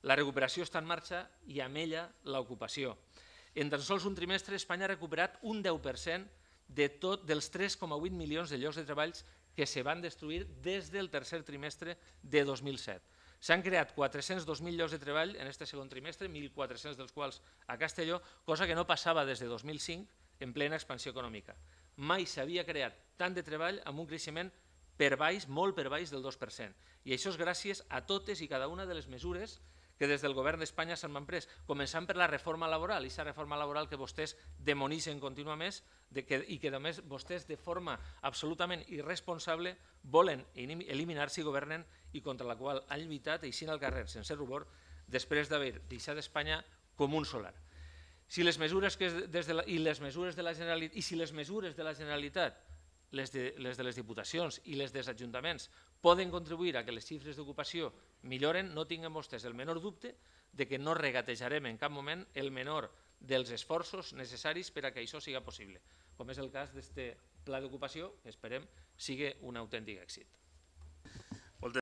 La recuperació està en marxa i amb ella l'ocupació. En tan sols un trimestre, Espanya ha recuperat un 10% dels 3,8 milions de llocs de treball que se van destruir des del tercer trimestre de 2007. S'han creat 402.000 llocs de treball en aquest segon trimestre, 1.400 dels quals a Castelló, cosa que no passava des de 2005 en plena expansió econòmica. Mai s'havia creat tant de treball amb un creixement per baix, molt per baix del 2%. I això és gràcies a totes i cada una de les mesures que des del govern d'Espanya s'han pres, començant per la reforma laboral, i aquesta reforma laboral que vostès demonitzen contínuament i que només vostès de forma absolutament irresponsable volen eliminar si governen i contra la qual han lluitat eixint al carrer sense rubor després d'haver deixat Espanya com un solar. Si les mesures de la Generalitat, les de les diputacions i les dels ajuntaments poden contribuir a que les xifres d'ocupació milloren, no tinguin vostès el menor dubte de que no regatejarem en cap moment el menor dels esforços necessaris per a que això sigui possible, com és el cas d'aquest pla d'ocupació que esperem sigui un autèntic èxit.